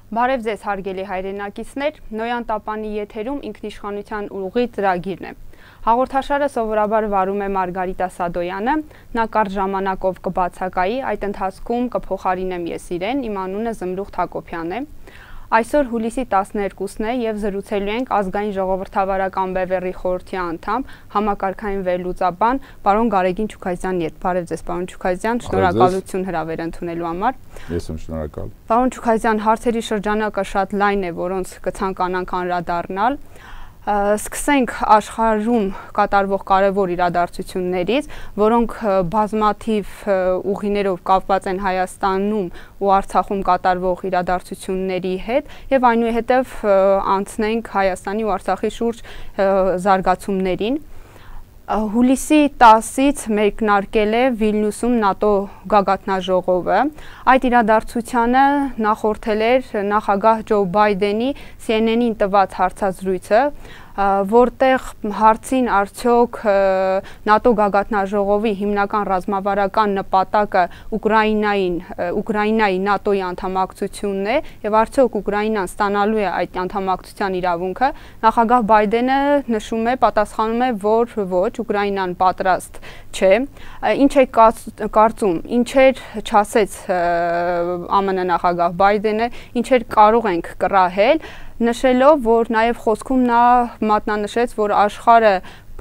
Բարև ձեզ հարգելի հայրենակիցներ, Նոյան Տապանի եթերում ինքնիշխանության ուղի ծրագիրն է։ Հաղորդաշարը սովորաբար վարում է Մարգարիտա Սադոյանը, նա կարճ ժամանակով կբացակայի, այդ ընթացքում կփոխարինեմ ես իրեն, իմ անունը Զմրուխտ Հակոբյան է։ Այսօր հուլիսի 12-ն է եւ զրուցելու ենք ազգային ժողովրդավարական բևեռի խորհրդի անդամ, համակարգային վերլուծաբան պարոն Գարեգին Չուքազյանի հետ։ Բարև ձեզ, պարոն Չուքազյան, շնորհակալություն հրավեր ընդունելու համար։ Ես եմ շնորհակալ։ Պարոն Չուքազյան, հարցերի շրջանակը շատ լայն է, որոնց կցանկանանք անդրադառնալ։ Սկսենք աշխարհում կատարվող կարևոր իրադարձություններից, որոնք բազմաթիվ ուղիներով կապված են Հայաստանում ու Արցախում կատարվող իրադարձությունների հետ եւ այնուհետեւ անցնենք Հայաստանի ու Արցախի շուրջ զարգացումներին։ Հուլիսի 10-ից մեկնարկել է Վիլնյուսում ՆԱՏՕ գագաթնաժողովը։ Այդ իրադարձությանը նախորդել էր նախագահ Ջո Բայդենի CNN-ին տված հարցազրույցը, որտեղ հարցին արդյոք ՆԱՏՕ գագաթնաժողովի հիմնական ռազմավարական նպատակը Ուկրաինայի ՆԱՏՕ-ի անդամակցությունն է եւ արդյոք Ուկրաինան ստանալու է այդ անդամակցության իրավունքը, նախագահ Բայդենը նշում է, պատասխանում է, որ ոչ, Ուկրաինան պատրաստ չէ։ Ինչ է կարծում, ինչեր չասեց ԱՄՆ նախագահ Բայդենը, ինչեր կարող ենք կռահել, նշելով, որ նաև խոսքում նա մատնանշեց, որ աշխարհը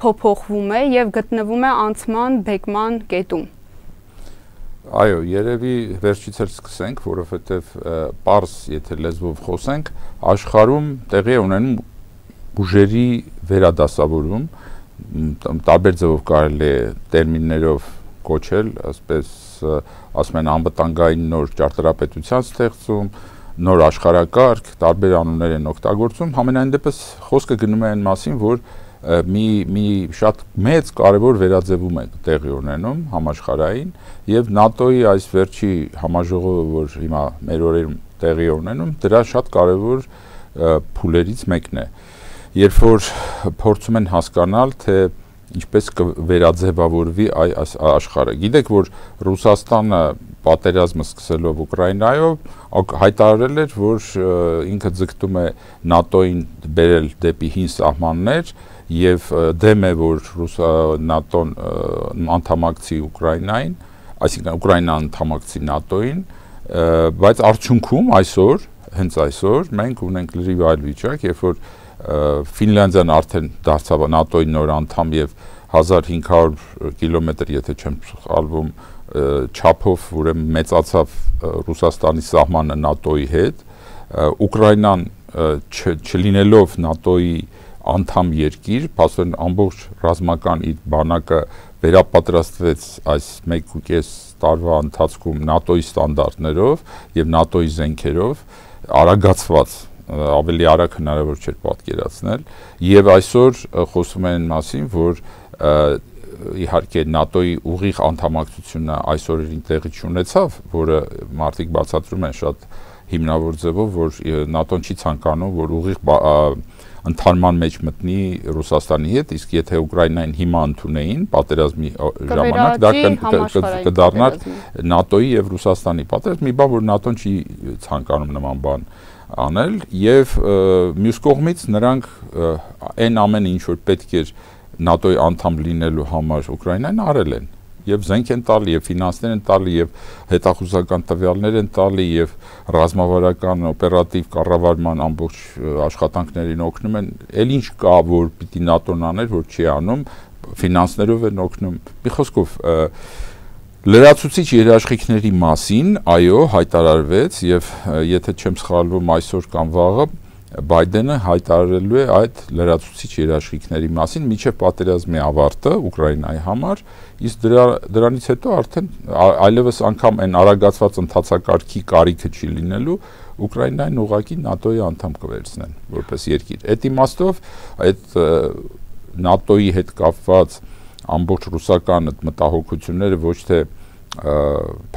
փոփոխվում է եւ գտնվում է անցման բեկման կետում։ Այո, երևի վերջից էլ սկսենք, որովհետեւ պարզ եթե լեզվով խոսենք, աշխարհում տեղի է ունենում ուժերի վերադասավորում, տարբեր ձևով կարելի է տերմիններով կոչել, ասես ասում են անվտանգային նոր ճարտարապետության ստեղծում, նոր աշխարհակարգ, տարբեր անուններ են օգտագործում, համենայն դեպս խոսքը գնում է այն մասին, որ մի շատ մեծ կարևոր վերաձևում է տեղի ունենում համաշխարհային եւ ՆԱՏՕ-ի այս վերջի համաժողովը, որ հիմա մեր օրերում տեղի է ունենում, դրա շատ կարևոր փուլերից մեկն է։ Երբ որ փորձում են հասկանալ, թե ինչպես կվերաձևավորվի այս աշխարհը։ Գիտեք, որ Ռուսաստանը պատերազմը սկսելով Ուկրաինայով հայտարարել էր, որ ինքը ձգտում է ՆԱՏՕ-ին բերել դեպի հին սահմաններ եւ դեմ է, որ ՆԱՏՕ-ն անդամակցի Ուկրաինային, այսինքն Ուկրաինան անդամակցի ՆԱՏՕ-ին, բայց արդյունքում այսօր, հենց այսօր մենք ունենք լրիվ այլ վիճակ, երբ որ Ֆինլանդիան արդեն դարձավ ՆԱՏՕ-ի նոր անդամ եւ 1500 կիլոմետր, եթե չեմ սխալվում, չափով ուրեմն մեծացավ Ռուսաստանի սահմանը ՆԱՏՕ-ի հետ, Ուկրաինան չլինելով ՆԱՏՕ-ի անդամ երկիր, փաստորեն ամբողջ ռազմական իր բանակը վերապատրաստվեց այս 1.5 տարվա ընթացքում ՆԱՏՕ-ի ստանդարտներով եւ ՆԱՏՕ-ի զենքերով, արագացված ավելի արագ հնարավոր չէր պատկերացնել եւ այսօր խոսում են մասին, որ իհարկե ՆԱՏՕ-ի ուղիղ անդամակցությունը այսօրերին տեղի չունեցավ, որը մարդիկ բացատրում են շատ հիմնավոր ձևով, որ ՆԱՏՕ-ն չի ցանկանում, որ ուղիղ ընդհանման մեջ մտնի Ռուսաստանի հետ, իսկ եթե Ուկրաինային հիմա ընդունեին պատերազմի ժամանակ, դա կդառնար ՆԱՏՕ-ի եւ Ռուսաստանի պատերազմ, մի բան, որ ՆԱՏՕ-ն չի ցանկանում նման բան անել եւ մյուս կողմից նրանք այն ամենը ինչ որ պետք էր ՆԱՏՕ-ի անդամ լինելու համար Ուկրաինան արել են եւ զենք են տալի եւ ֆինանսներ են տալի եւ հետախուզական տվյալներ են տալի եւ ռազմավարական օպերատիվ կառավարման ամբողջ աշխատանքներին օգնում են, ել ինչ կա որ պիտի ՆԱՏՕ-ն աներ, որ չի անում, ֆինանսներով են օգնում։ Մի խոսքով լրացուցիչ երաշխիքների մասին, այո, հայտարարվեց եւ եթե չեմ սխալվում այսօր կամ վաղը Բայդենը հայտարարելու է այդ լրացուցիչ երաշխիքների մասին մինչև պատերազմի ավարտը Ուկրաինայի համար, իսկ դրանից հետո արդեն այլևս անգամ այն արագացված ընթացակարգի կարիքը չի լինելու, Ուկրաինային ուղղակի ՆԱՏՕ-ի անդամ կվերցնեն որպես երկիր։ Այդ իմաստով այդ ՆԱՏՕ-ի հետ կապված ամբողջ ռուսական մտահոգությունները ոչ թե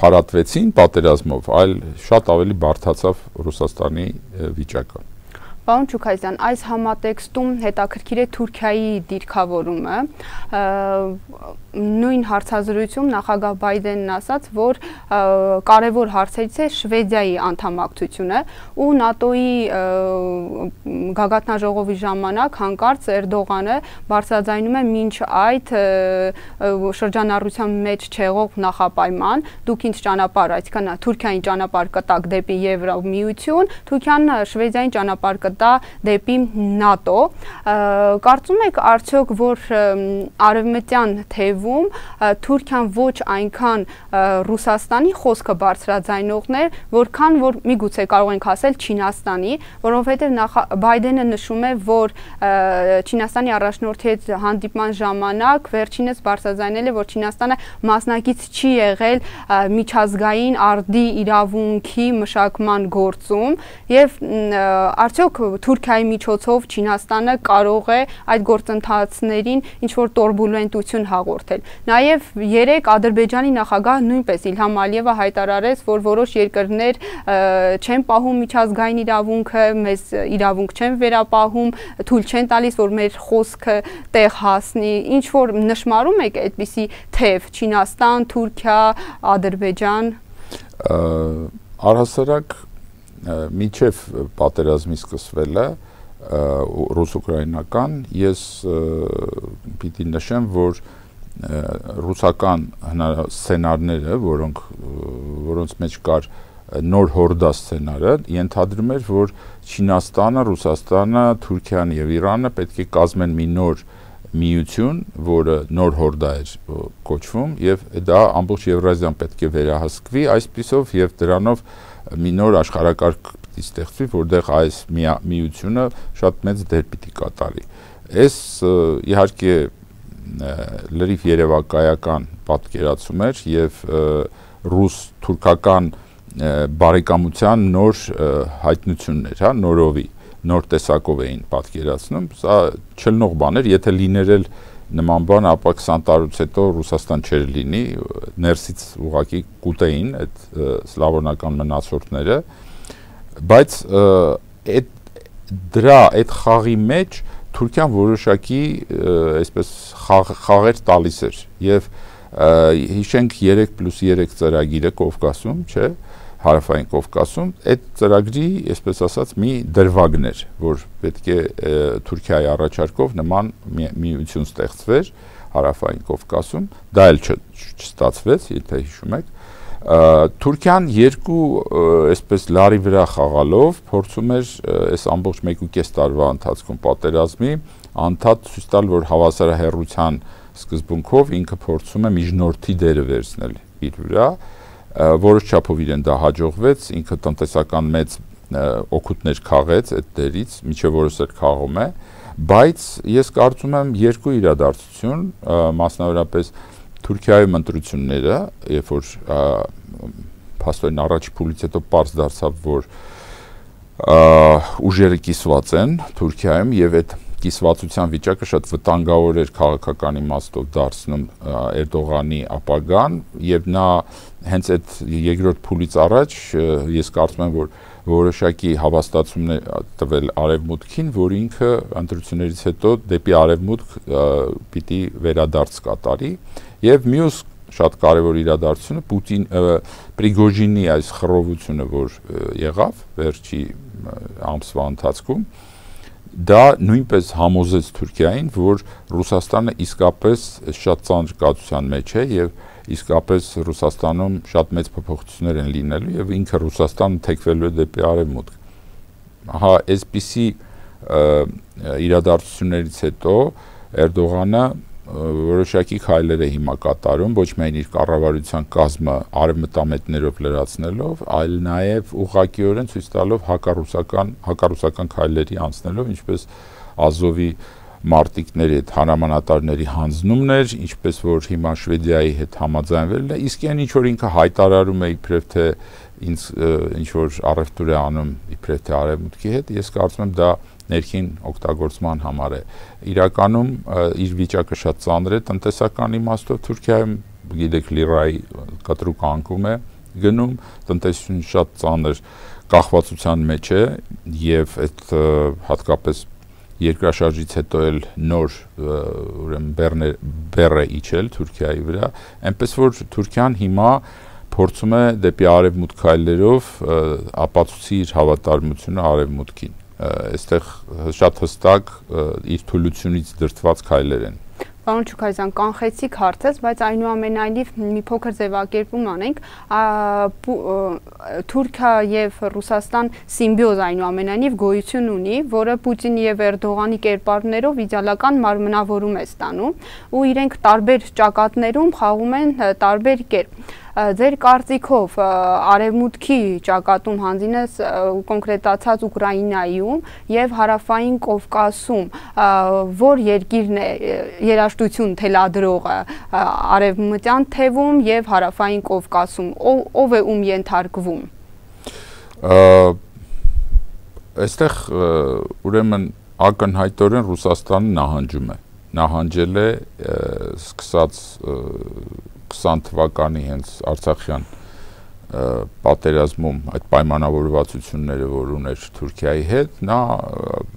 փարատվեցին պատերազմով, այլ շատ ավելի բարդացավ Ռուսաստանի վիճակը։ Պարոն Չուքայզյան, այս համատեքստում հետաքրքիր է Թուրքիայի դիրքավորումը, նույն հարցազրույցում նախագահ Բայդենն ասաց, որ կարևոր հարցերից է Շվեդիայի անդամակցությունը ու ՆԱՏՕ-ի գագաթնաժողովի ժամանակ հանկարծ Էրդողանը բարձրաձայնում է մինչ այդ շրջանառության մեջ չեղող նախապայման, դուք ինչ ճանապարհ, այսինքն Թուրքիային ճանապարհ կտակ դեպի Եվրամիություն, Թուրքիան Շվեդիային ճանապարհ կտա դեպի ՆԱՏՕ, կարծում եք արդյոք, որ արևմտյան թևում Թուրքիան ոչ այնքան Ռուսաստանի խոսքը բարձրաձայնողներ, որքան որ միգուցե կարող ենք ասել Չինաստանի, որովհետև Բայդենը նշում է, որ Չինաստանի առաջնորդի հետ հանդիպման ժամանակ վերջինս բարձրաձայնել է, որ Չինաստանը մասնակից չի եղել միջազգային արդի իրավունքի մշակման գործում եւ արդյոք Թուրքիայի միջոցով Չինաստանը կարող է այդ գործընթացներին ինչ որ տուրբուլենտություն հաղորդել։ Նաեւ երեք Ադրբեջանի նախագահ նույնպես Իլհամ Ալիևը հայտարարեց, որ որոշ երկրներ չեն պահում միջազգային իրավունքը, մեզ իրավունք չեն վերապահում, թույլ չեն տալիս, որ մեր խոսքը տեղ հասնի։ Ինչ որ նշмарում եք այդպիսի թեւ Չինաստան, Թուրքիա, Ադրբեջան։ Առհասարակ միջև պատերազմի սկսվելը ռուս-ուկրաինական ես պիտի նշեմ, որ ռուսական սցենարները, որոնց մեջ կար նոր հորդա սցենարը, ենթադրում էր, որ Չինաստանը, Ռուսաստանը, Թուրքիան եւ Իրանը պետք է կազմեն մի նոր միություն, որը նոր հորդա էր կոչվում եւ դա ամբողջ Եվրազիան պետք է վերահսկվի այսպիսով եւ դրանով մի նոր աշխարհակարգ պիտի ստեղծվի, որտեղ այս միությունը շատ մեծ դեր պիտի կատարի։ Այս իհարկե լրիվ երևակայական պատկերացում էր եւ ռուս-թուրքական բարեկամության նոր հայտնություններ, հա, նորովի, նոր տեսակով էին պատկերացնում, սա չլնող բան էր, եթե լիներ էլ նման բան, ապա 20 տարուց հետո Ռուսաստան չէր լինի, ներսից ուղղակի կուտեին այդ սլավոնական մնացորդները, բայց այդ խաղի մեջ Թուրքիան որոշակի այսպես խաղեր տալիս էր եւ հիշենք 3+3 ծրագիրը Կովկասում, չէ, հարավային Կովկասում, այդ ծրագրի, այսպես ասած, մի դրվագն էր, որ պետք է Թուրքիայի առաջարկով նման միություն ստեղծվեր հարավային Կովկասում, դա էլ չստացվեց, եթե հիշում եք։ Թուրքիան երկու այսպես լարի վրա խաղալով փորձում էր այս ամբողջ 1.5 տարվա ընթացքում պատերազմի անդադ ցույց տալ, որ հավասարահեռության սկզբունքով ինքը փորձում է միջնորդի դերը վերցնել իր վրա, որոշ չափով իրեն դա հաջողվեց, ինքը տնտեսական մեծ օգուտներ քաղեց այդ դերից, միջև որս էլ խաղում է, բայց ես կարծում եմ երկու իրադարձություն, մասնավորապես Թուրքիայում ընտրությունները, երբ որ փաստորեն առաջի փուլից հետո պարզ դարձավ, որ ուժերը կիսված են Թուրքիայում եւ այդ կիսվածության վիճակը շատ վտանգավոր էր քաղաքական իմաստով դարձնում Էրդողանի ապագան եւ նա հենց այդ երկրորդ փուլից առաջ ես կարծում եմ, որ որոշակի հավաստացումներ տվել արևմուտքին, որ ինքը ընտրություններից հետո դեպի արևմուտք պիտի վերադարձ կատարի եւ մյուս շատ կարևոր իրադարձությունը Պրիգոժինի այս խռովությունը, որ եղավ վերջի ամսվա ընթացքում, դա նույնպես համոզեց Թուրքիային, որ Ռուսաստանը իսկապես շատ ծանր կացության մեջ է եւ իսկապես Ռուսաստանում շատ մեծ փոփոխություններ են լինելու եւ ինքը Ռուսաստանը թեքվելու է դեպի արևմուտք։ Հա, այսպիսի իրադարձություններից հետո Էրդողանը որոշակի քայլեր է հիմա կատարում, ոչ միայն իր կառավարության կազմը արևմտամետներով լրացնելով, այլ նաև ուղղակիորեն ցույց տալով հակառուսական քայլերի անցնելով, ինչպես Ազովի մարտիկների հետ հանրամանատարների հանձնումն էր, ինչպես որ հիմա Շվեդիայի հետ համաձայնվելն է, իսկ այն ինչ որ ինքը հայտարարում է իբրև թե ինչ որ առևտուր է անում իբրև թե արևմուտքի հետ, ես կարծում եմ դա ներքին օգտագործման համար է։ Իրականում իր վիճակը շատ ծանր է տնտեսական իմաստով, Թուրքիայում գիտեք լիրայի կտրուկ անկում է գնում, տնտեսությունը շատ ծանր կախվածության մեջ է եւ այդ հատկապես երկրաշարժից հետո էլ նոր ուրեմն բեռը իջել Թուրքիայի վրա, այնպես որ Թուրքիան հիմա փորձում է դեպի արևմուտք քայլերով ապացուցի իր հավատարմությունը արևմուտքին։ Այստեղ շատ հստակ իր թուլությունից դրդված քայլեր են։ Պարոն Չուքայզյան, կանխեցիք հարցս, բայց այնուամենայնիվ մի փոքր ձևակերպում անենք, Թուրքիա եւ Ռուսաստան սիմբիոզ այնուամենայնիվ գոյություն ունի, որը Պուտինի եւ Էրդողանի կերպարներով իդեալական մարմնավորում է ստանում, ու իրենք տարբեր ճակատներում խաղում են տարբեր կերպ։ Ձեր կարծիքով արևմուտքի ճակատում հանձինես կոնկրետացած Ուկրաինայում եւ հարավային Կովկասում որ երկիրն է երաշտություն թելադրողը արևմտյան թևում եւ հարավային Կովկասում, ով է ում ենթարկվում։ Այստեղ ուրեմն ակնհայտորեն Ռուսաստանը նահանջել է սկսած 20 թվականի հենց Արցախյան պատերազմում այդ պայմանավորվածությունները, որ ուներ Թուրքիայի հետ, նա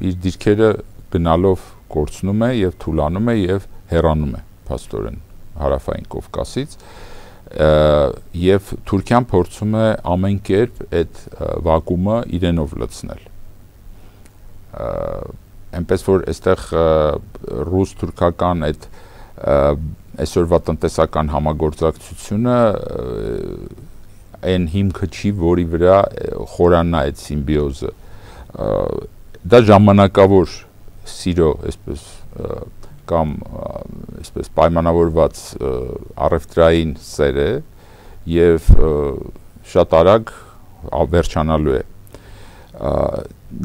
իր դիրքերը գնալով կորցնում է եւ թուլանում է եւ հեռանում է փաստորեն հարավային Կովկասից եւ Թուրքիան փորձում է ամեն կերպ այդ վակուումը իրենով լցնել։ Այնպես որ այստեղ ռուս-թուրքական այդ այսօրվա տնտեսական համագործակցությունը այն հիմքը չի, որի վրա խորանա այդ սիմբիոզը։ Դա ժամանակավոր սիրո, այսպես կամ այսպես պայմանավորված առևտրային սեր է եւ շատ արագ վերջանալու է։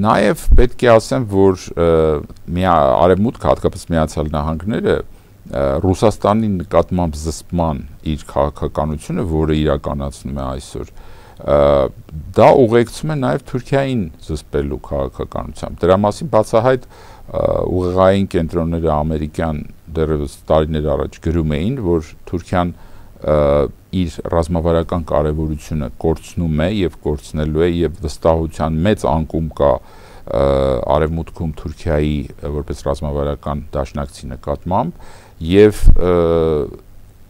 Նաեւ պետք է ասեմ, որ արևմուտքը, հատկապես Միացյալ Նահանգները Ռուսաստանի նկատմամբ զսպման իր քաղաքականությունը, որը իրականացնում է այսօր, դա ուղեկցում է նաև Թուրքիային զսպելու քաղաքականությամբ։ Դրա մասին բացահայտ ուղեղային կենտրոնները ամերիկյան դեռևս տարիներ առաջ գրում էին, որ Թուրքիան իր ռազմավարական կարևորությունը կորցնում է եւ կորցնելու է եւ վստահության մեծ անկում կա արևմուտքում Թուրքիայի որպես ռազմավարական դաշնակցի նկատմամբ եւ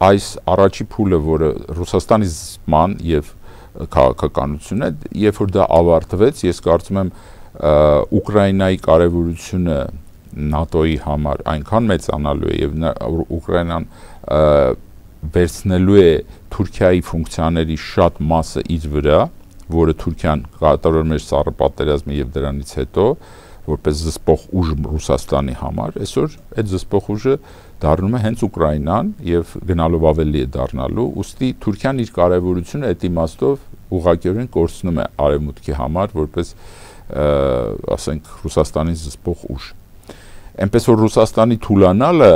այս առաջի փուլը, որը Ռուսաստանի զսպման եւ քաղաքականությունն է, երբ որ դա ավարտվեց, ես կարծում եմ Ուկրաինայի կարևորությունը ՆԱՏՕ-ի համար այնքան մեծանալու է եւ Ուկրաինան վերցնելու է Թուրքիայի ֆունկցիաների շատ մասը իր վրա, որը Թուրքիան կատարում էր սառը պատերազմը եւ դրանից հետո որպես զսպող ուժ Ռուսաստանի համար, այսօր այդ զսպող ուժը դառնում է հենց Ուկրաինան եւ գնալով ավելի է դառնալու, ուստի Թուրքիան իր կարևորությունը այդ իմաստով ուղղակիորեն կորցնում է արևմուտքի համար որպես ասենք Ռուսաստանի զսպող ուժ։ Այնպես որ Ռուսաստանի թուլանալը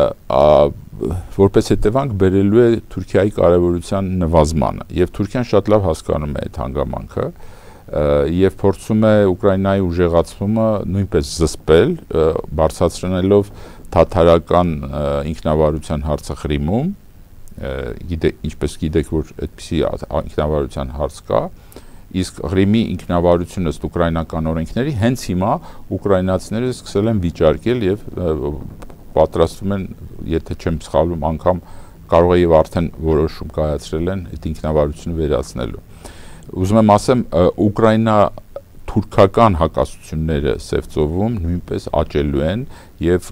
որպես հետևանք բերելու է Թուրքիայի կարևորության նվազմանը եւ Թուրքիան շատ լավ հասկանում է այդ հանգամանքը եւ փորձում է Ուկրաինայի ուժեղացումը նույնպես զսպել, բարձրացնելով թաթարական ինքնավարության հարցը Ղրիմում, ինչպես գիտեք, որ այդպիսի ինքնավարության հարց կա, իսկ Ղրիմի ինքնավարությունը ըստ ուկրաինական օրենքների հենց հիմա ուկրաինացիները սկսել են վիճարկել եւ պատրաստվում են, եթե չեմ սխալվում, անգամ կարող է եւ արդեն որոշում կայացրել են այդ ինքնավարությունը վերացնելու։ Ուզում եմ ասեմ, Ուկրաինա-թուրքական հակասությունները Սևծովում նույնպես աճելու են եւ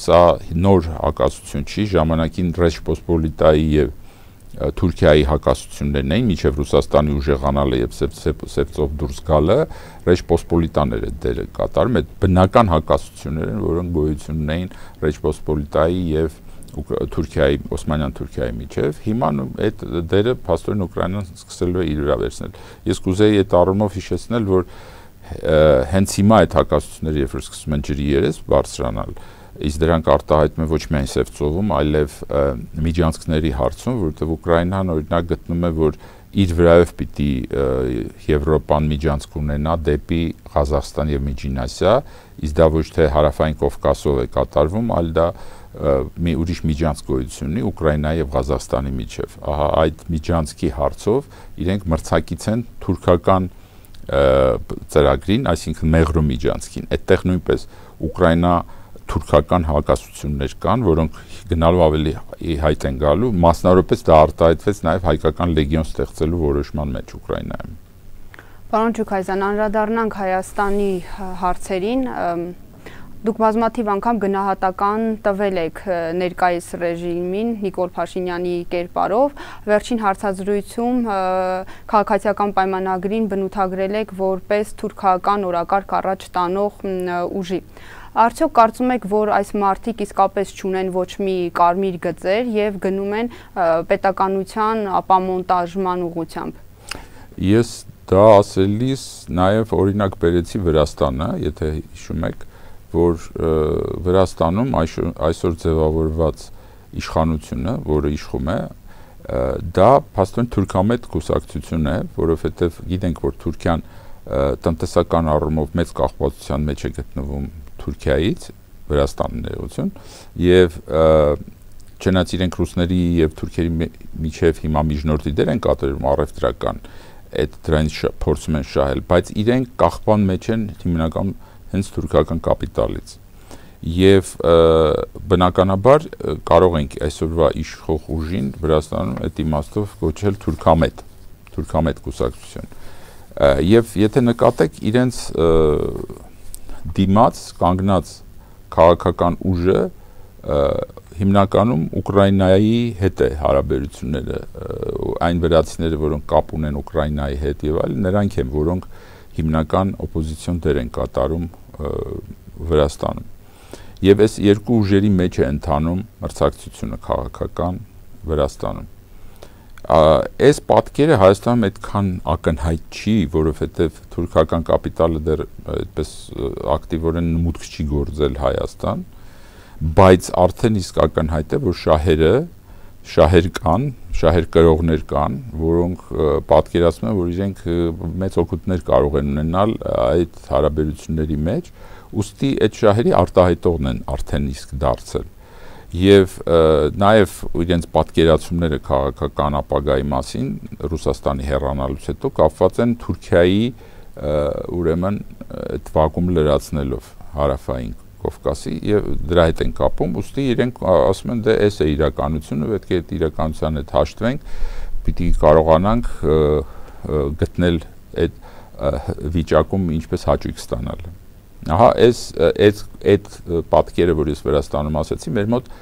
սա նոր հակասություն չի, ժամանակին Ռեչպոսպոլիտայի եւ Թուրքիայի հակասություններն էին, մինչև Ռուսաստանի ուժեղանալը եւ Սևծով դուրս գալը, Ռեչպոսպոլիտաները դերը կատարում, այդ բնական հակասություններ են, որոնք գոյություն ունեին Ռեչպոսպոլիտայի եւ Թուրքիայի, Օսմանյան Թուրքիայի միջև, հիմա այդ դերը փաստորեն Ուկրաինան սկսելու է իր վրա վերցնել։ Ես կուզեի այդ առումով հիշեցնել, որ հենց հիմա այդ հակասությունները, երբ որ սկսում են ջրի երես բարձրանալ, իսկ դրանք արտահայտվում են ոչ միայն Սևծովում, այլև միջանցքների հարցում, որովհետև Ուկրաինան օրինակ գտնում է, որ իր վրայով պիտի Եվրոպան միջանցք ունենա դեպի Ղազախստան եւ Միջին Ասիա, իսկ դա ոչ թե հարավային Կովկասով է կատարվում, այլ դա մի ուրիշ միջանցք գոյություն ունի Ուկրաինայի եւ Ղազախստանի միջև։ Ահա այդ միջանցքի հարցով իրենք մրցակից են թուրքական ծրագրին, այսինքն Մեղրո միջանցքին, այդտեղ նույնպես Ուկրաինա-թուրքական հակասություններ կան, որոնք գնալու ավելի հայտ են գալու, մասնավորապես դա արտահայտվեց նաև հայկական լեգիոն ստեղծելու որոշման մեջ Ուկրաինայում։ Պարոն Ջուքայզյան, անդրադառնանք Հայաստանի հարցերին, դուք բազմաթիվ անգամ գնահատական տվել եք ներկայիս ռեժիմին Նիկոլ Փաշինյանի կերպարով, վերջին հարցազրույցում քաղաքացիական պայմանագրին բնութագրել եք որպես թուրքական օրակարգ առաջ տանող ուժի։ Արդյոք կարծում եք, որ այս մարդիկ իսկապես չունեն ոչ մի կարմիր գծեր եւ գնում են պետականության ապամոնտաժման ուղղությամբ։ Ես դա ասելիս նաև օրինակ բերեցի Վրաստանը, եթե հիշում եք, որ Վրաստանում այսօր ձևավորված իշխանությունը, որը իշխում է, դա փաստորեն թուրքամետ կուսակցություն է, որովհետև գիտենք, որ Թուրքիան տնտեսական առումով մեծ կախվածության մեջ է գտնվում Թուրքիայից, Վրաստանի ներողություն, եւ չնայած իրենք ռուսների եւ թուրքերի միջև հիմա միջնորդի դեր են կատարում առևտրական, այդ դրանից փորձում են շահել, բայց իրենք կախման մեջ են հիմնական հենց թուրքական կապիտալից եւ բնականաբար կարող ենք այսօրվա իշխող ուժին Վրաստանում այդ իմաստով կոչել թուրքամետ կուսակցություն եւ եթե նկատեք իրենց դիմաց կանգնած քաղաքական ուժը հիմնականում Ուկրաինայի հետ է հարաբերությունները այն վրացիները, որոնք կապ ունեն Ուկրաինայի հետ եւ այլն, նրանք են, որոնք հիմնական օպոզիցիոն դեր են կատարում Վրաստանում։ Եվ այս երկու ուժերի մեջ է ընթանում մրցակցությունը քաղաքական Վրաստանում։ Այս պատկերը Հայաստանում այդքան ակնհայտ չի, որովհետև թուրքական կապիտալը դեռ այդպես ակտիվորեն մուտք չի գործել Հայաստան, բայց արդեն իսկ ակնհայտ է, որ շահեր կան, շահեր կրողներ կան, որոնք պատկերացնում են, որ իրենք մեծ օգուտներ կարող են ունենալ այդ հարաբերությունների մեջ, ուստի այդ շահերի արտահայտողն են արդեն իսկ դարձել։ Եվ նաև իրենց պատկերացումները քաղաքական ապագայի մասին Ռուսաստանի հեռանալուց հետո կապված են Թուրքիայի ուրեմն այդ վակուում լրացնելով հարավային Կովկասի եւ դրա հետ են կապում, ուստի իրենք ասում են դե էս է իրականությունը, պետք է այդ իրականության հետ հաշտվենք, պիտի կարողանանք գտնել այդ վիճակում ինչպես հաճույք ստանալ։ Ահա այդ պատկերը, որ ես Վրաստանում ասացի, մեր մոտ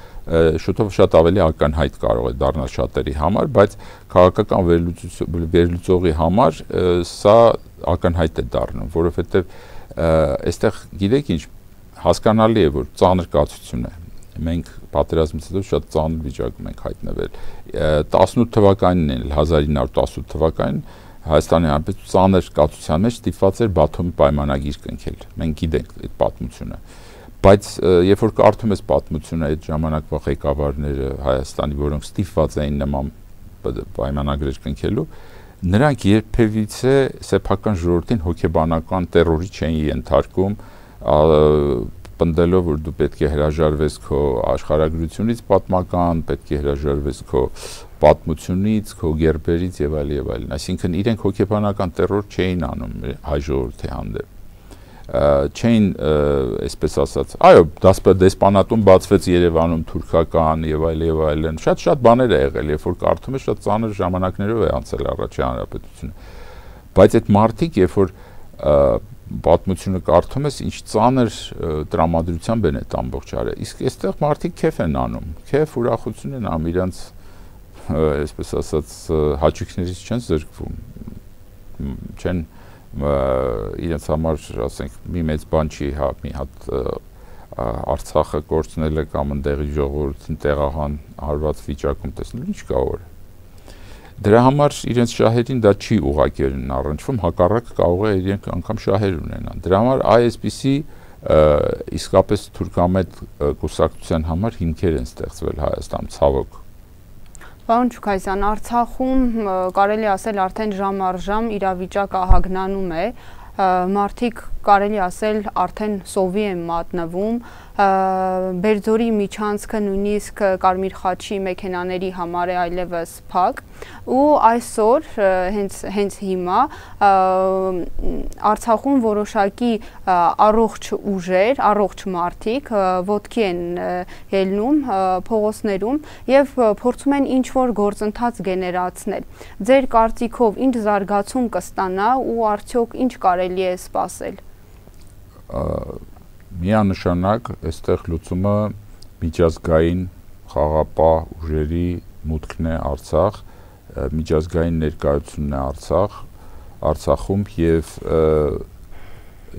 շուտով շատ ավելի ակնհայտ կարող է դառնալ շատերի համար, բայց քաղաքական վերլուծողի համար սա ակնհայտ է դառնում, որովհետև այստեղ գիտեք ինչ հասկանալի է, որ ծանր կացություն է։ Մենք պատերազմից հետո շատ ծանր վիճակում ենք հայտնվել։ 18 թվականին էլ 1918 թվականին Հայաստանի Հանրապետություն ծանր կացության մեջ ստիպված էր Բաթումի պայմանագիր կնքել։ Մենք գիտենք այդ պատմությունը։ Բայց երբ որ կարդում ես պատմությունը այդ ժամանակվա ղեկավարները Հայաստանի, որոնք ստիպված էին նման պայմանագրեր կնքելու, նրանք երբևիցե սեփական ժողովրդին հոգեբանական տերորի չէին ենթարկում, պնդելով, որ դու պետք է հրաժարվես քո աշխարհագրությունից պատմական, պետք է հրաժարվես քո պատմությունից, քո գերբերից եւ այլն, այսինքն իրենք հոգեբանական տերոր չէին անում հայ ժողովրդի հանդեպ։ Չէին, այսպես ասած, այո, դեսպանատուն բացվեց Երևանում թուրքական եւ այլն, շատ բաներ է եղել, երբ որ կարդում ես, շատ ծանր ժամանակներով է անցել առաջի հանրապետությունը։ Բայց այդ մարդիկ, երբ որ պատմությունը կարդում ես, ինչ ծանր տրամադրությամբ են այդ ամբողջ արել։ Իսկ այստեղ մարդիկ քեֆ են անում, ուրախություն են անում, իրանց այսպես ասած հաճույքներից չեն զրկվում, չեն իրենց համար, ասենք, մի մեծ բան չի, մի հատ Արցախը կորցնելը կամ ընդեղի ժողովրդին տեղահան արված վիճակում տեսնել, ինչ կա որ։ Դրա համար իրենց շահերին դա չի ուղղակիորեն առնչվում, հակառակը կարող է իրենք անգամ շահեր ունենան։ Դրա համար այսպիսի իսկապես թուրքամետ կուսակցության համար հիմքեր են ստեղծվել Հայաստանում, ցավոք։ Պարոն Ջուքայզյան, Արցախում կարելի ասել արդեն ժամ առ ժամ իրավիճակը ահագնանում է, մարդիկ կարելի ասել արդեն սովի են մատնվում, Բերձորի միջանցքը նույնիսկ Կարմիր խաչի մեքենաների համար է այլևս փակ ու այսօր հենց հիմա Արցախում որոշակի առողջ ուժեր, առողջ մարդիկ ոտքի են ելնում փողոցներում եւ փորձում են ինչ-որ գործընթաց գեներացնել։ Ձեր կարծիքով ինչ զարգացում կստանա ու արդյոք ինչ կարելի է սպասել։ Միանշանակ այստեղ լուծումը միջազգային խաղապահ ուժերի մուտքն է Արցախ, միջազգային ներկայությունն է Արցախում եւ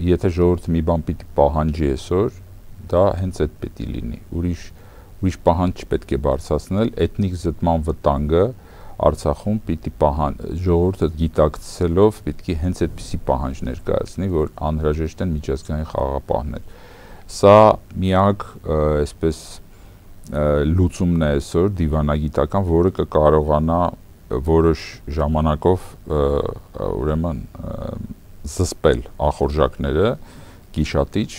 եթե ժողովուրդը մի բան պիտի պահանջի այսօր, դա հենց այդ պետք է լինի։ Ուրիշ պահանջ չպետք է բարձրացնել, էթնիկ զտման վտանգը Արցախում պիտի ժողովուրդը գիտակցելով պետք է հենց այդպիսի պահանջ ներկայացնի, որ անհրաժեշտ են միջազգային խաղապահներ։ Սա միակ այսպես լուծումն է այսօր դիվանագիտական, որը կկարողանա որոշ ժամանակով ուրեմն զսպել ախորժակները, գիշատիչ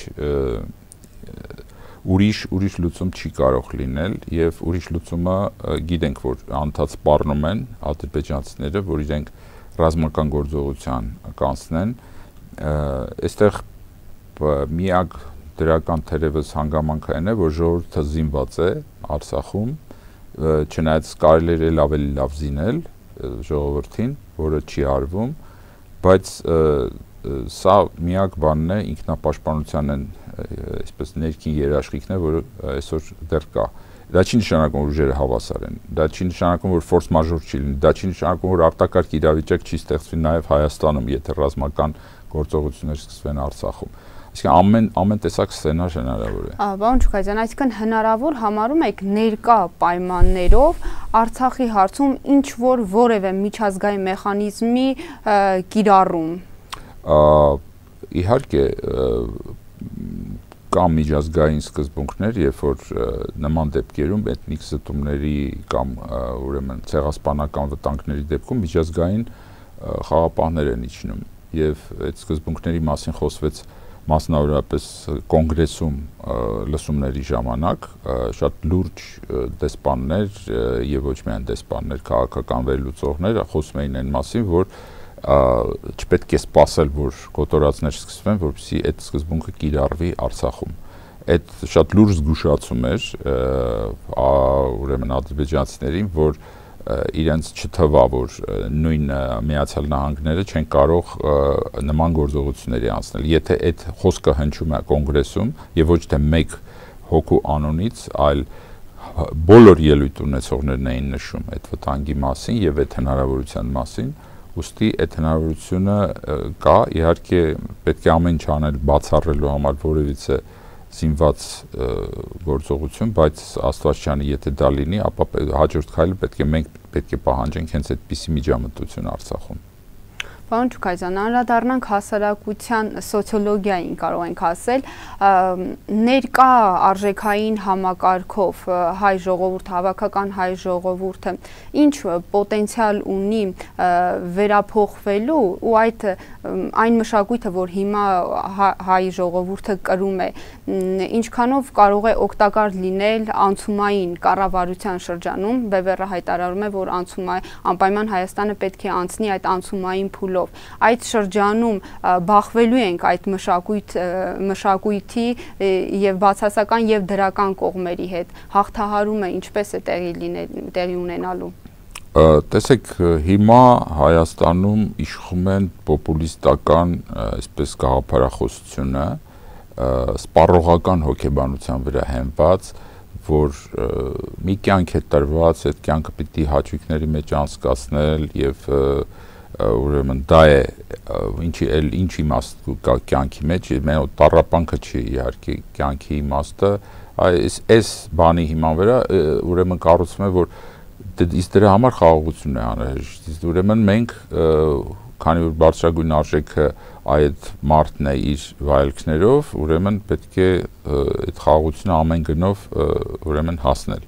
ուրիշ լուծում չի կարող լինել եւ ուրիշ լուծումը գիտենք որ անդադ սպառնում են ադրբեջանցիները որ իրենք ռազմական գործողության կանցնեն այստեղ միակ դրական թերևս հանգամանքը այն է որ ժողովուրդը զինված է Արցախում չնայած կարելի է ավելի լավ զինել ժողովրդին որը չի արվում բայց սա միակ բանն է ինքնապաշտպանության են այսպես ներքին երաշխիքն է որը այսօր դեռ կա դա չի նշանակում որ ուժերը հավասար են դա չի նշանակում որ ֆորս մաժոր չի լինի դա չի նշանակում որ արտակարգ իրավիճակ չի ստեղծվի նաև Հայաստանում եթե ռազմական գործողություններ սկսվեն Արցախում այսինքն ամեն տեսակ սցենար հնարավոր է Պարոն Չուկայցյան այսինքն հնարավոր համարում եք ներկա պայմաններով Արցախի հարցում ինչ որ որևէ միջազգային մեխանիզմի կիրառում Իհարկե կամ միջազգային սկզբունքներ, երբ որ նման դեպքերում էթնիկ զտումների կամ ուրեմն ցեղասպանական վտանգների դեպքում միջազգային խաղապահներ են իջնում եւ այդ սկզբունքների մասին խոսվեց մասնավորապես կոնգրեսում լսումների ժամանակ շատ լուրջ դեսպաններ եւ ոչ միայն դեսպաններ, քաղաքական վերլուծողներ խոսում էին այն մասին, որ չպետք է սպասել, որ կոտորածներ սկսվեն, որպեսզի այդ սկզբունքը կիրառվի Արցախում։ Այդ շատ լուրջ զգուշացում էր ուրեմն ադրբեջանցիներին, որ իրենց չթվա, որ նույն Միացյալ Նահանգները չեն կարող նման գործողությունների անցնել։ Եթե այդ խոսքը հնչում է կոնգրեսում եւ ոչ թե մեկ հոգու անունից, այլ բոլոր ելույթ ունեցողներն էին նշում այդ վտանգի մասին եւ այդ հնարավորության մասին, ուստի այդ հնարավորությունը կա, իհարկե պետք է ամեն ինչ անել բացառելու համար որևիցե զինված գործողություն, բայց Աստվածչյանի եթե դա լինի, ապա հաջորդ քայլը մենք պետք է պահանջենք հենց այդպիսի միջամտություն Արցախում։ Պարոն Չուկայցյան, անդրադառնանք հասարակության սոցիոլոգիային կարող ենք ասել, ներկա արժեքային համակարգով հայ ժողովուրդը, հավաքական հայ ժողովուրդը ինչ պոտենցիալ ունի վերափոխվելու ու այն մշակույթը, որ հիմա հայ ժողովուրդը կրում է, ինչքանով կարող է օգտակար լինել անցումային կառավարության շրջանում, Բևեռը հայտարարում է, որ անպայման Հայաստանը պետք է անցնի այդ անցումային փուլով Այդ շրջանում բախվելու ենք այդ մշակույթի եւ բացասական եւ դրական կողմերի հետ հաղթահարումը ինչպես է տեղի ունենալու Տեսեք հիմա Հայաստանում իշխում են պոպուլիստական այսպես գաղափարախոսությունը սպառողական հոգեբանության վրա հենված որ մի կյանք է տրված այդ կյանքը պիտի հաճույքների մեջ անցկացնել եւ ուրեմն դա է ինչ իմաստ կա կյանքի մեջ մենակ տառապանքը չի իհարկե կյանքի իմաստը այս բանի հիման վրա ուրեմն կառուցվում է որ իսկ դրա համար խաղաղություն է անհրաժեշտ ուրեմն մենք քանի որ բարձրագույն արժեքը այդ մարդն է իր վայելքներով ուրեմն պետք է այդ խաղաղությունը ամեն գնով ուրեմն հասնել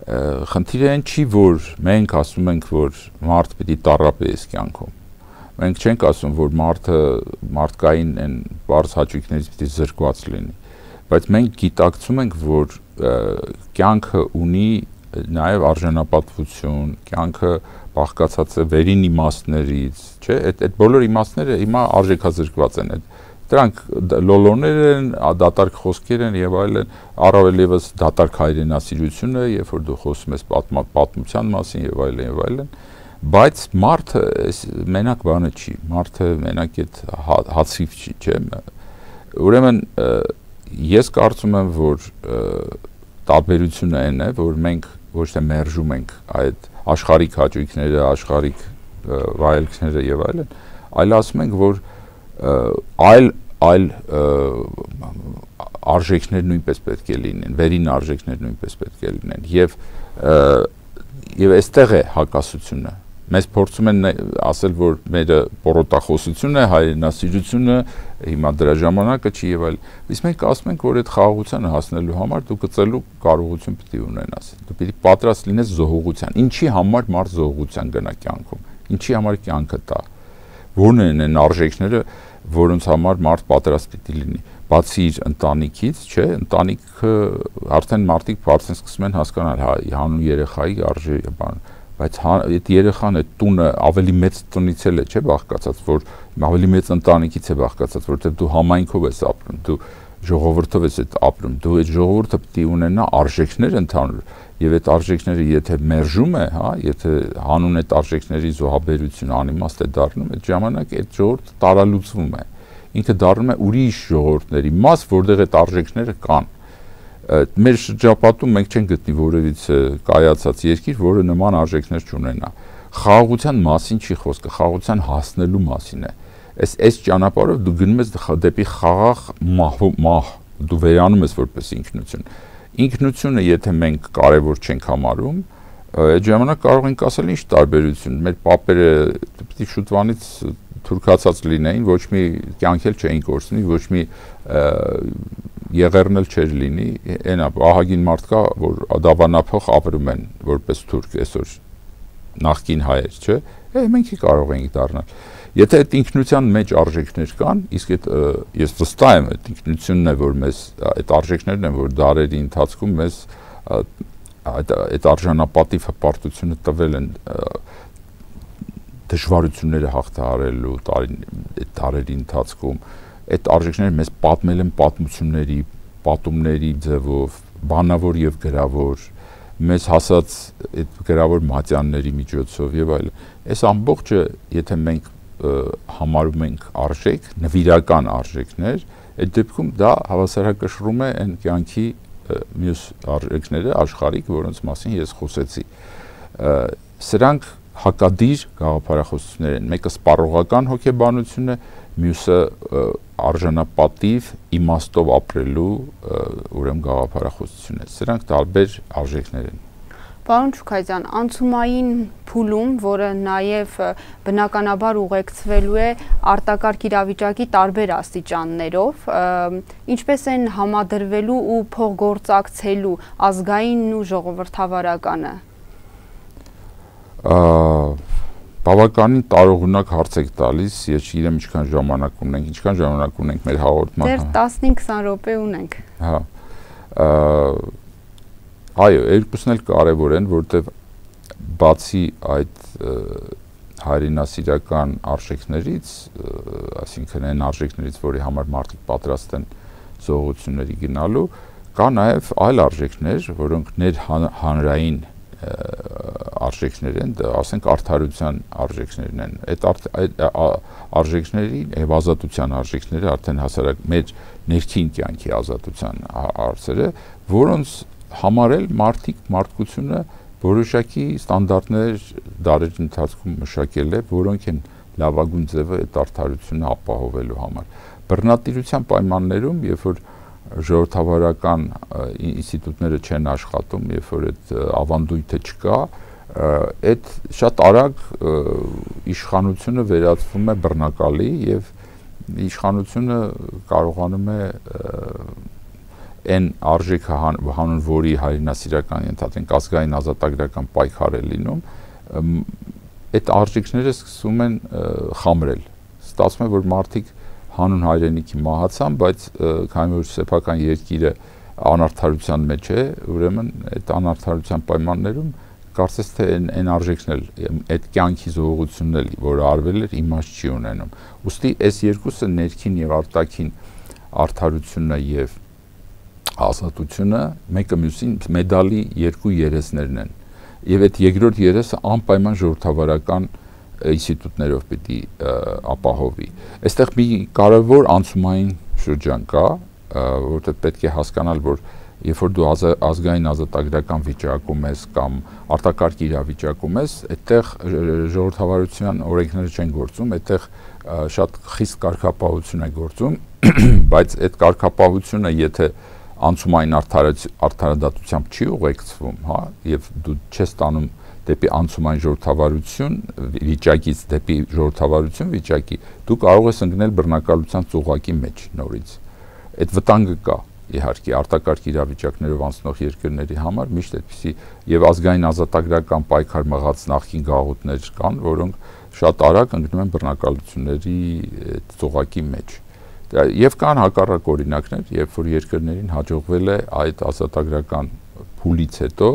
Խնդիրը այն չի, որ մենք ասում ենք, որ մարդ պիտի տառապի այս կյանքում։ Մենք չենք ասում, որ մարդկային այն բարձ հաճույքներից պիտի զրկված լինի, բայց մենք գիտակցում ենք, որ կյանքը ունի նաև արժանապատվություն, կյանքը բաղկացած է վերին իմաստներից, չէ՞, այդ բոլոր իմաստները հիմա արժեքազրկված են, դրանք լոլոներ են, դատարկ խոսքեր են եւ այլն, առավել եւս դատարկ հայրենասիրությունը, երբ որ դու խոսում ես պատմության մասին եւ այլն, բայց մարդը մենակ բանը չի, մարդը մենակ այդ հացիվ չի, չէ՞։ Ուրեմն ես կարծում եմ, որ տարբերությունը այն է, որ մենք ոչ թե մերժում ենք այդ աշխարհիկ հաճույքները, աշխարհիկ վայելքները եւ այլն, այլ ասում ենք, որ այլ արժեքներ նույնպես պետք է լինեն, վերին արժեքներ նույնպես պետք է լինեն եւ այստեղ է հակասությունը։ Մեզ փորձում են ասել, որ մեր պորոտախոսությունը է, հայրենասիրությունը, հիմա դրա ժամանակը չի եւ այլն։ Իսկ մենք ասում ենք, որ այդ խաղաղությանը հասնելու համար դու գծելու կարողություն պիտի ունենաս։ Դու պիտի պատրաստ լինես զոհողության։ Ինչի համար մարդ զոհողության գնա կյանքում։ Ինչի համար կյանքը տա։ Որն են այն արժեքները, որոնց համար մարդ պատրաստ պիտի լինի։ Բացի իր ընտանիքից, չէ, ընտանիքը արդեն մարդիկ բարձր սկսում են հասկանալ, հա, հանուն երեխայի արժե բան, բայց այդ երեխան այդ տունը ավելի մեծ տնից է, չէ, բաղկացած, որ ավելի մեծ ընտանիքից է բաղկացած, որտեղ դու համայնքով ես ապրում, դու ժողովրդով ես ապրում, դու այդ ժողովուրդը պիտի ունենա արժեքներ ընդհանուր, եւ այդ արժեքները եթե մերժում է, հա, եթե հանուն այդ արժեքների զոհաբերություն անիմաստ է դառնում, այդ ժամանակ այդ ժողովուրդը տարալուծվում է, ինքը դառնում է ուրիշ ժողովուրդների մաս, որտեղ այդ արժեքները կան։ Մեր շրջապատում մենք չենք գտնի որևիցե կայացած երկիր, որը նման արժեքներ չունենա։ Խաղաղության մասին չի խոսքը, խաղաղության հասնելու մասին է։ Այս ճանապարհով դու գնում ես դեպի խաղաղ մահ, դու վերանում ես որպես ինքնություն։ Ինքնությունը, եթե մենք կարևոր չենք համարում, այդ ժամանակ կարող ենք ասել ինչ տարբերություն։ Մեր պապերը պիտի շուտվանից թուրքացած լինեին, ոչ մի կյանք էլ չէին կորցնի, ոչ մի եղերն էլ չէր լինի, այնա ահագին մարդ կա, որ դավանափոխ ապրում են որպես թուրք այսօր նախկին հայեր, չէ՞։ Մենք կարող ենք դառնալ։ Եթե այդ ինքնության մեջ արժեքներ կան, իսկ այդ ես վստահ եմ, այդ ինքնությունն է, որ մեզ այդ արժեքներն են, որ դարերի ընթացքում մեզ այդ արժանապատիվ հպարտությունը տվել են դժվարությունները հաղթահարելու դարերի ընթացքում, այդ արժեքները մեզ պատմել են պատմությունների, պատումների ձևով, բանավոր եւ գրավոր, մեզ հասած այդ գրավոր մատյանների միջոցով եւ այլն։ Այս ամբողջը, եթե մենք համարում ենք արժեք, նվիրական արժեքներ, այդ դեպքում դա հավասարակշռում է այն կյանքի մյուս արժեքները, աշխարհիկ, որոնց մասին ես խոսեցի։ Սրանք հակադիր գաղափարախոսություններ են, մեկը սպառողական հոգեբանություն է, մյուսը արժանապատիվ իմաստով ապրելու ուրեմն գաղափարախոսություն է։ Սրանք տարբեր արժեքներ են։ Պարոն Չուքայձյան, անցումային փուլում, որը նաև բնականաբար ուղեկցվելու է արտակարգ իրավիճակի տարբեր աստիճաններով, ինչպես են համադրվելու ու փոխգործակցելու ազգայինն ու ժողովրդավարականը։ Բավականին տարողունակ հարց եք տալիս, ես չգիտեմ ինչքան ժամանակ ունենք մեր հաղորդման։ Դեռ 15-20 րոպե ունենք։ Հա։ Այո, երկուսն էլ կարևոր են, որտեղ բացի այդ հայրենասիրական արժեքներից, այսինքն այն արժեքներից, որի համար մարդիկ պատրաստ են զոհությունների գնալու, կա նաև այլ արժեքներ, որոնք ներհանրային արժեքներ են, ասենք արդարության արժեքներն են։ Այդ արժեքների եւ ազատության արժեքները արդեն հասարակ մեր ներքին կյանքի ազատության հարցերը, որոնց համարել մարդկությունը որոշակի ստանդարտներ դարերի ընթացքում մշակել է, որոնք են լավագույն ձևը այդ արդարությունը ապահովելու համար։ Բռնատիրության պայմաններում, երբ որ ժողովրդավարական ինստիտուտները չեն աշխատում, երբ որ այդ ավանդույթը չկա, այդ շատ արագ իշխանությունը վերածվում է բռնակալի եւ իշխանությունը կարողանում է այն արժեքը հանուն որի հայրենասիրական ընդհանրեն ազգային ազատագրական պայքար է լինում, այդ արժեքները սկսում են խամրել։ Ստացվում է, որ մարդիկ հանուն հայրենիքի մահացան, բայց քանի որ սեփական երկիրը անարդարության մեջ է, ուրեմն այդ անարդարության պայմաններում կարծես թե այն արժեքն էլ, այդ կյանքի զողողությունն էլ, որը արվել էր, իմաստ չի ունենում։ Ուստի այս երկուսը ներքին եւ արտաքին արդարությունը եւ ազատությունը մեկը մյուսին մեդալի երկու երեսներն են։ Եվ այդ երկրորդ երեսը անպայման ժողովրդավարական ինստիտուտներով պիտի ապահովի։ Այստեղ մի կարևոր անցումային շրջան կա, որտեղ պետք է հասկանալ, որ երբ որ դու ազգային ազատագրական վիճակում ես կամ արտակարգ իրավիճակում ես, այդտեղ ժողովրդավարության օրենքները չեն գործում, այդտեղ շատ խիստ կարգապահություն է գործում, բայց այդ կարգապահությունը եթե անցումային արդարադատությամբ չի ուղեկցվում, հա, եւ դու չես տանում դեպի անցումային ժողովրդավարություն վիճակից դեպի ժողովրդավարություն վիճակի, դու կարող ես ընկնել բռնակալության ծուղակի մեջ նորից։ Այդ վտանգը կա, իհարկե, արտակարգ իրավիճակներով անցնող երկրների համար միշտ այդպիսի եւ ազգային ազատագրական պայքար մղած նախկին գաղութներ կան, որոնք շատ արագ ընկնում են բռնակալությունների ծուղակի մեջ։ Եվ կան հակառակ օրինակներ, երբ որ երկրներին հաջողվել է այդ ազատագրական փուլից հետո,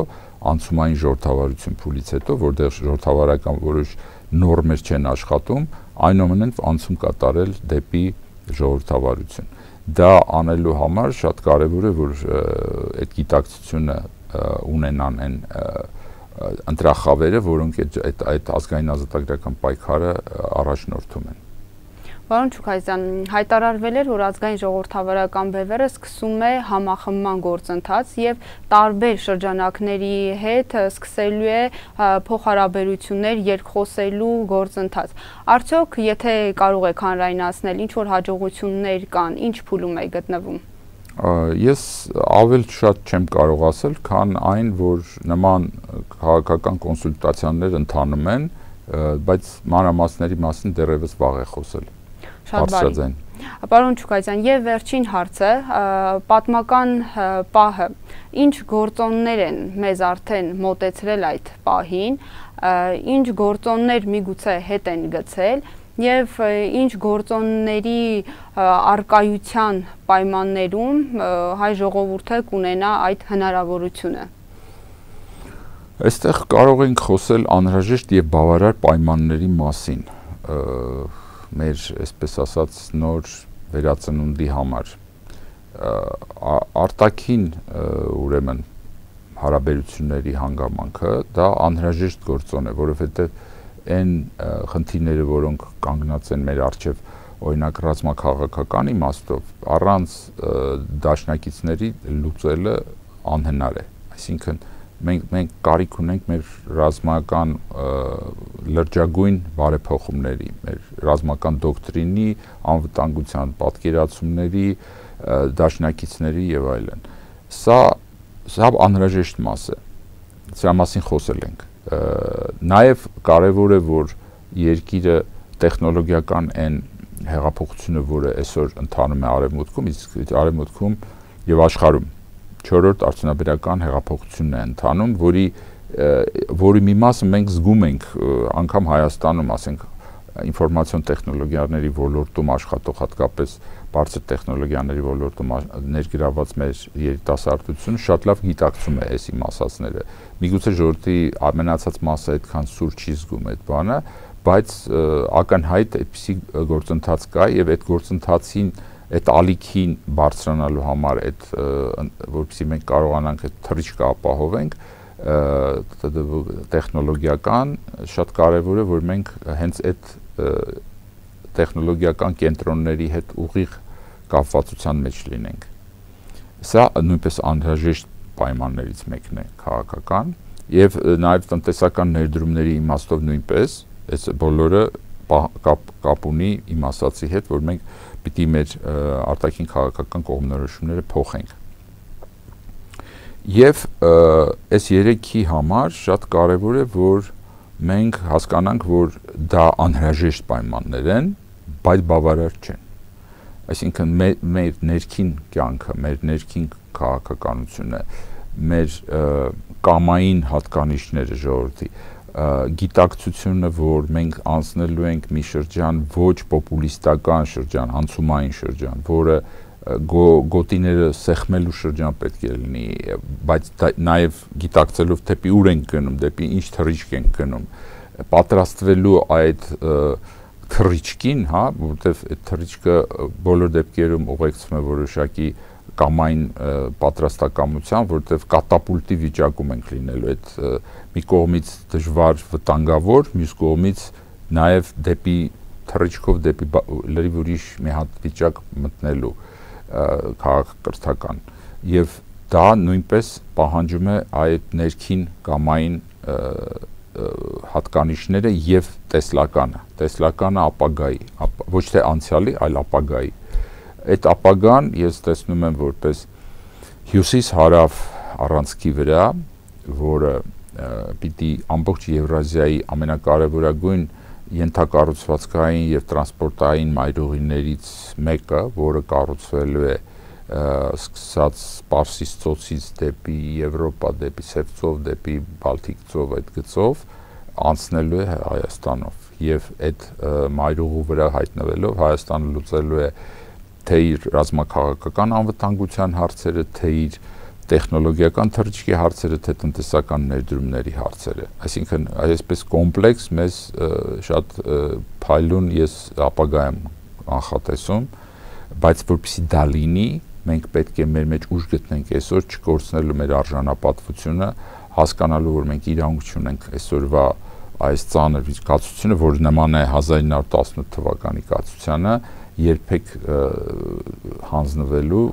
անցումային ժողովրդավարություն փուլից հետո, որտեղ ժողովրդավարական որոշ նորմեր չեն աշխատում, այնուամենայնիվ անցում կատարել դեպի ժողովրդավարություն։ Դա անելու համար շատ կարևոր է, որ այդ գիտակցությունը ունենան այն ընտրախավերը, որոնք այդ ազգային ազատագրական պայքարը առաջնորդում են։ Պարոն Չուքայզյան, հայտարարվել էր, որ ազգային ժողովրդավարական բևեռը սկսում է համախմբման գործընթաց եւ տարբեր շրջանակների հետ սկսելու է փոխհարաբերություններ, երկխոսելու գործընթաց։ Արդյոք, եթե կարող եք հանրայնացնել, ինչ որ հաջողություններ կան, ինչ փուլում է գտնվում։ Ես ավել շատ չեմ կարող ասել, քան այն, որ նման քաղաքական կոնսուլտացիաներ ընթանում են, բայց մանրամասների մասին դեռևս վաղ է խոսել։ Շատ բարի։ Պարոն Չուքայզյան, եւ վերջին հարցը, պատմական պահը, ինչ գործոններ են մեզ արդեն մոտեցրել այդ պահին, ինչ գործոններ միգուցե հետ են գցել եւ ինչ գործոնների արկայության պայմաններում հայ ժողովուրդը կունենա այդ հնարավորությունը։ Այստեղ կարող ենք խոսել անհրաժեշտ եւ բավարար պայմանների մասին, մեր, այսպես ասած, նոր վերածնունդի համար, արտաքին ուրեմն հարաբերությունների հանգամանքը, դա անհրաժեշտ գործոն է, որովհետև այն խնդիրները, որոնք կանգնած են մեր առջև, օրինակ ռազմաքաղաքական իմաստով, առանց դաշնակիցների լուծելը անհնար է, այսինքն մենք կարիք ունենք մեր ռազմական լրջագույն բարեփոխումների, մեր ռազմական դոկտրինի, անվտանգության պատկերացումների, դաշնակիցների եւ այլն։ Սա անհրաժեշտ մաս է։ Սրա մասին խոսել ենք։ Նաեւ կարեւոր է, որ երկիրը տեխնոլոգիական այն հեղափոխությունը, որը այսօր ընթանում է արևմուտքում, իսկ արևմուտքում եւ աշխարհում 4-րդ արդյունաբերական հեղափոխությունն է ընթանում, որի մի մասը մենք զգում ենք անգամ Հայաստանում, ասենք, ինֆորմացիոն տեխնոլոգիաների ոլորտում աշխատող, հատկապես բարձր տեխնոլոգիաների ոլորտում ներգրաված մեր երիտասարդությունը շատ լավ գիտակցում է այս իմ ասածները։ Միգուցե ժողովրդի ամենացած մասը այդքան սուր չի զգում այդ բանը, բայց ակնհայտ այդպիսի գործընթաց կա եւ այդ գործընթացին այդ ալիքին բարձրանալու համար, որպեսզի մենք կարողանանք այդ թռիչքը ապահովենք, տեխնոլոգիական, շատ կարևոր է, որ մենք հենց այդ տեխնոլոգիական կենտրոնների հետ ուղիղ կապվածության մեջ լինենք։ Սա նույնպես անհրաժեշտ պայմաններից մեկն է քաղաքական եւ նաեւ տնտեսական ներդրումների իմաստով նույնպես, այս բոլորը կապ ունի իմ ասացի հետ, որ մենք պիտի մեր արտաքին քաղաքական կողմնորոշումները փոխենք։ Եվ այս երեքի համար շատ կարևոր է, որ մենք հասկանանք, որ դա անհրաժեշտ պայմաններ են, բայց բավարար չեն։ Այսինքն մեր ներքին կյանքը, մեր ներքին քաղաքականությունը, մեր կամային հատկանիշները ժողովրդի, գիտակցությունը, որ մենք անցնելու ենք մի շրջան ոչ պոպուլիստական շրջան, անցումային շրջան, որը գոտիները սեղմելու շրջան պետք է լինի, բայց նաև գիտակցելով դեպի ուր ենք գնում, դեպի ինչ թռիչք ենք գնում, պատրաստվելու այդ թռիչքին, հա, որովհետև այդ թռիչքը բոլոր դեպքերում ուղեկցվում է որոշակի կամային պատրաստակամության, որովհետև կատապուլտի վիճակում ենք լինելու, այդ մի կողմից դժվար վտանգավոր, մյուս կողմից նաև դեպի թռիչքով դեպի լրիվ ուրիշ մի հատ վիճակ մտնելու քաղաքակրթական, եւ դա նույնպես պահանջում է այդ ներքին կամային հատկանիշները եւ տեսլականը ապագայի, ոչ թե անցյալի, այլ ապագայի։ Այդ ապագան ես տեսնում եմ որպես հյուսիս-հարավ առանցքի վրա, որը պիտի ամբողջ Եվրազիայի ամենակարևորագույն ենթակառուցվածքային եւ տրանսպորտային մայրուղիներից մեկը, որը կառուցվելու է սկսած Պարսից ծոցից դեպի Եվրոպա, դեպի Սև ծով, դեպի Բալթիկ ծով, այդ գծով անցնելու է Հայաստանով եւ այդ մայրուղու վրա հայտնվելով Հայաստանը լուծելու է թե իր ռազմաքաղաքական անվտանգության հարցերը, թե իր տեխնոլոգիական թռիչքի հարցերը, թե տնտեսական ներդրումների հարցերը։ Այսինքն այսպես կոմպլեքս մեզ շատ փայլուն ես ապագայում անխատեսում, բայց որպեսզի դա լինի, մենք պետք է մեր մեջ ուժ գտնենք այսօր չկորցնելու մեր արժանապատվությունը, հասկանալու, որ մենք իրավունք չունենք այսօրվա այս ծանր կացությունը, որը նման է 1918 թվականի կացությանը, երբեք հանձնվելու,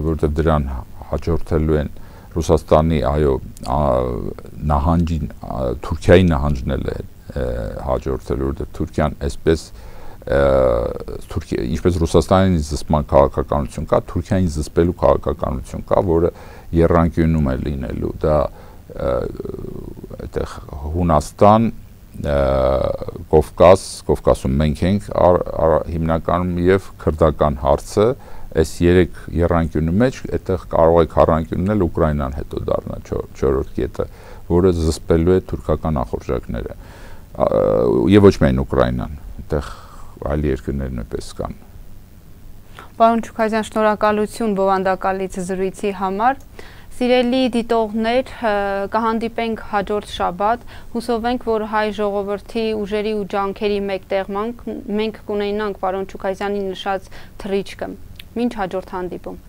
որովհետև դրան հաջորդելու են Ռուսաստանի, այո, նահանջին, Թուրքիայի նահանջն է հաջորդելու, որովհետև Թուրքիան այսպես ինչպես Ռուսաստանին զսպման քաղաքականություն կա, Թուրքիային զսպելու քաղաքականություն կա, որը եռանկյունում է լինելու, դա այդտեղ Հունաստան, Կովկասում մենք ենք հիմնականում եւ քրդական հարցը, այս երեք եռանկյունի մեջ այդտեղ կարող է քառանկյունն էլ Ուկրաինան հետո դառնա չորրորդ կետը, որը զսպելու է թուրքական ախորժակները եւ ոչ միայն Ուկրաինան, այդտեղ այլ երկրներ նույնպես կան։ Պարոն Չուքազյան, շնորհակալություն բովանդակալից զրույցի համար։ Սիրելի դիտողներ, կհանդիպենք հաջորդ շաբաթ, հուսով ենք, որ հայ ժողովրդի ուժերի ու ջանքերի մեկտեղման մենք կունենանք պարոն Չուքազյանի նշած թռիչքը։ Մինչ հաջորդ հանդիպում։